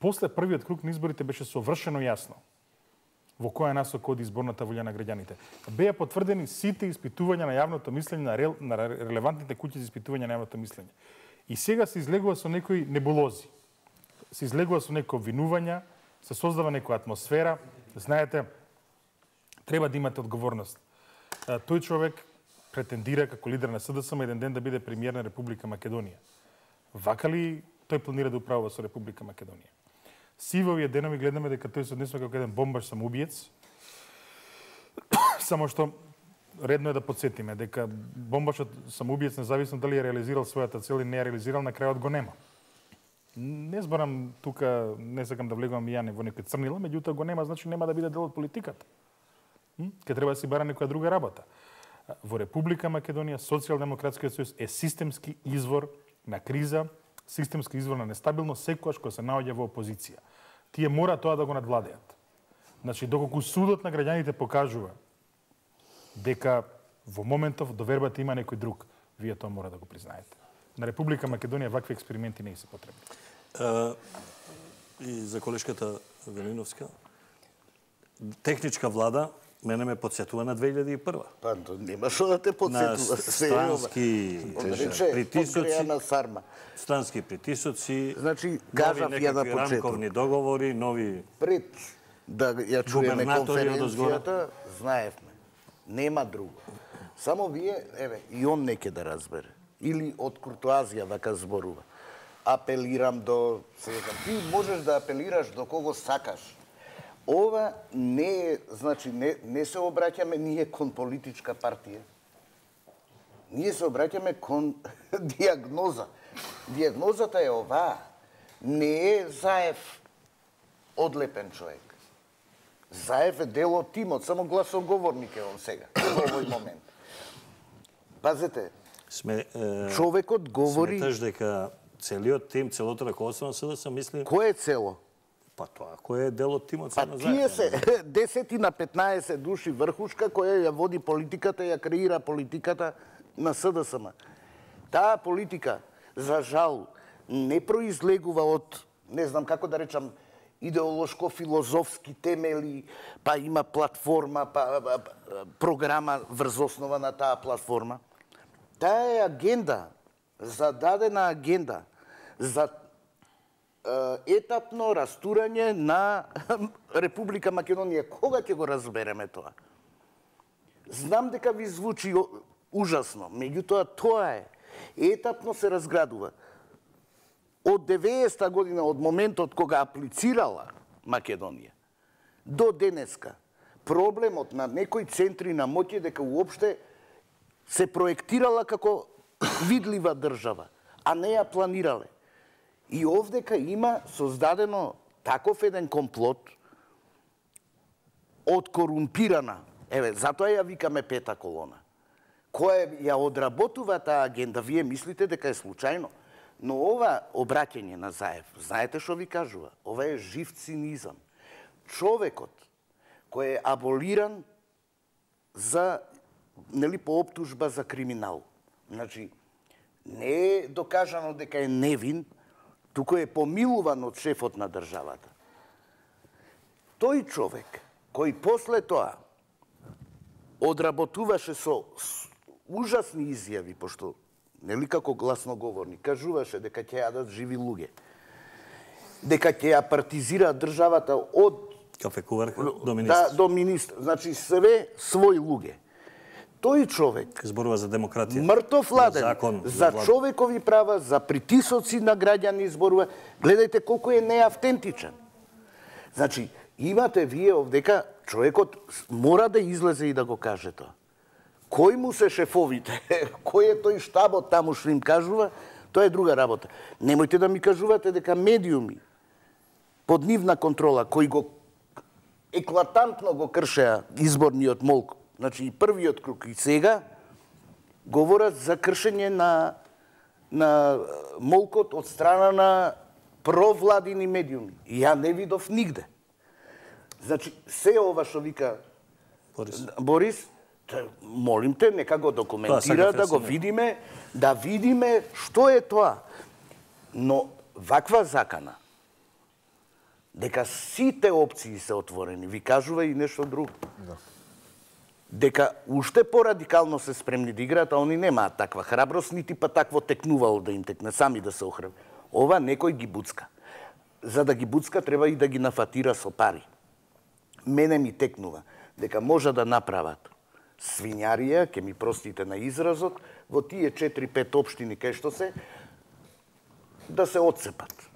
после првиот круг на изборите беше совршено јасно во која насока оди изборната волја на граѓаните. Беа потврдени сите испитувања на јавното мислење, на релевантните куќи за испитување на јавното мислење. И сега се излегува со некои небулози. Се излегува со некои обвинувања, се создава некоја атмосфера. Знаете, треба да имате одговорност. Тој човек претендира како лидер на СДСМ еден ден да биде премиер на Република Македонија. Вака ли тој планира да управува со Република Македонија? Си во овие денови гледаме дека тој се однесува како еден бомбаш самоубиец. Само што редно е да подсетиме дека бомбашот самоубиец, независно дали е реализирал својата цел или не е реализирал, на крајот го нема. Не зборам тука, не сакам да влегувам и ја во некој црнила, меѓутоа го нема, значи нема да биде дел од политиката. Ке треба да си бара некоја друга работа. Во Република Македонија Социјалдемократскиот сојуз е системски извор на криза, системски извор на нестабилност секогаш кога се наоѓа во опозиција. Тие мора тоа да го надвладеат. Значи, доколку судот на граѓаните покажува дека во моментов довербата има некој друг, вие тоа мора да го признаете. На Република Македонија вакви експерименти не се потребни. И за колешката Велиновска, техничка влада мене ме подсетува на 2001. Па, нема што да те подсетува. На странски притисоци. Странски притисоци, значи, кажав ја на почеток. рамковни договори, нови... Пред да ја чуеме конференцијата, знаевме. Нема друго. Само вие, еве, и он неке да разбере. Или од куртуазија вака зборува. Апелирам до... Ти можеш да апелираш до кого сакаш. Ова не е, значи, не се обраќаме ние кон политичка партија. Ние се обраќаме кон диагноза. Диагнозата е оваа. Не е Заев одлепен човек. Заев е дел од тимот, само гласоговорник е он сега, во овој момент. Пазете, човекот говори... Сметаш дека целиот тим, целото раководство на СДС мисли... Кој е цело? Па тоа, кој е дел од тимот на Заев? Па тие се 10 на 15 души врхушка која ја води политиката, ја креира политиката на СДСМ. Таа политика, за жал, не произлегува од, не знам како да речам, идеолошко-филозофски темели, па има платформа, па програма врз основа на таа платформа. Таа е агенда, зададена агенда за етапно растурање на Република Македонија. Кога ќе го разбереме тоа? Знам дека ви звучи ужасно, меѓутоа тоа е. Етапно се разградува. Од 90-та година, од моментот кога аплицирала Македонија, до денеска, проблемот на некои центри на моќ е дека уопште се проектирала како видлива држава, а не ја планирале. И овдека има создадено таков еден комплот од корумпирана, еве, затоа ја викаме пета колона, која ја одработува таа агенда. Вие мислите дека е случајно? Но ова обраќање на Заев, знаете што ви кажува? Ова е жив цинизам. Човекот кој е аболиран за, нели, по оптужба за криминал. Значи, не е докажано дека е невин, туку е помилуван од шефот на државата. Тој човек, кој после тоа одработуваше со ужасни изјави, пошто нели како гласноговорник, кажуваше дека ќе јадат живи луѓе, дека ќе ја партизираат државата од кафекуварка до министр. Да, до министр. Значи, све своји луѓе. Тој човек зборува за демократија, мртов ладен, за човекови права, за притисоци на граѓани зборува. Гледајте колку е неавтентичен. Значи, имате вие овдека, човекот мора да излезе и да го каже тоа. Кој му се шефовите, кој е тој штабот таму што им кажува, тоа е друга работа. Немојте да ми кажувате дека медиуми под нивна контрола, кои го еклатантно го кршеа изборниот молк, значи и првиот круг и сега, говорат за кршење на молкот од страна на провладини медиуми. И ја не видов нигде. Значи, се ова што вика Борис, молим те, нека го документира, да го видиме, да видиме што е тоа. Но ваква закана, дека сите опции се отворени. Ви кажува и нешто друго. Дека уште порадикално се спремни да играат, а они немаат таква храброст, нити па такво текнувало да им текне, сами да се охрабри. Ова некој ги буцка. За да ги буцка, треба и да ги нафатира со пари. Мене ми текнува дека може да направат свињарија, ке ми простите на изразот, во тие 4-5 општини кај што се, да се отцепат.